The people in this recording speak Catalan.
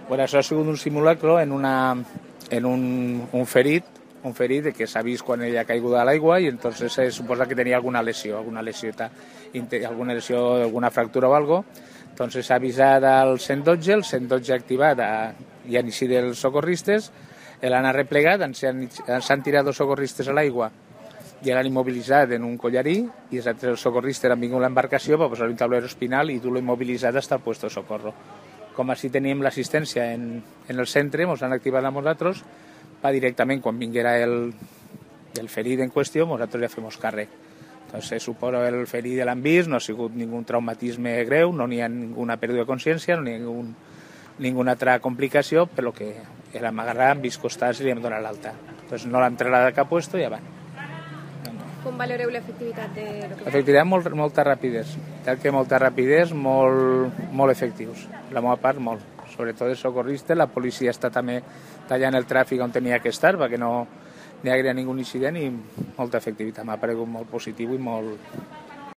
Bueno, això ha sigut un simulacro en un ferit que s'ha vist quan ella ha caigut a l'aigua i entonces se suposa que tenia alguna lesió, alguna fractura o algo. Entonces s'ha avisat al 112, el 112 ha activat i han eixit els socorristes, l'han arreplegat, s'han tirat dos socorristes a l'aigua i l'han immobilitzat en un collarí i els altres socorristes han vingut a l'embarcació per posar un tablero espinal i dur-lo immobilitzat fins al puesto de socorro. Com així teníem l'assistència en el centre, ens han activat a nosaltres, va directament quan vinguera el ferit en qüestió, nosaltres ja fem càrrec. Entonces, suposo el ferit l'han vist, no ha sigut ningú traumatisme greu, no n'hi ha ninguna pèrdua de consciència, no n'hi ha ninguna altra complicació, però que l'hem agarrat, hem vist costats i li hem donat l'alta. Entonces, no l'hem trasladat a cap puesto i ja va. Com valoreu l'efectivitat de lo que... L'efectivitat, molta rapidesa. Molta rapidesa, molt efectius. La meva part, molt. Sobretot els socorristes, la policia està també tallant el tràfic on tenia que estar perquè no hi hagués ningú incident i molta efectivitat. M'ha paregut molt positiu i molt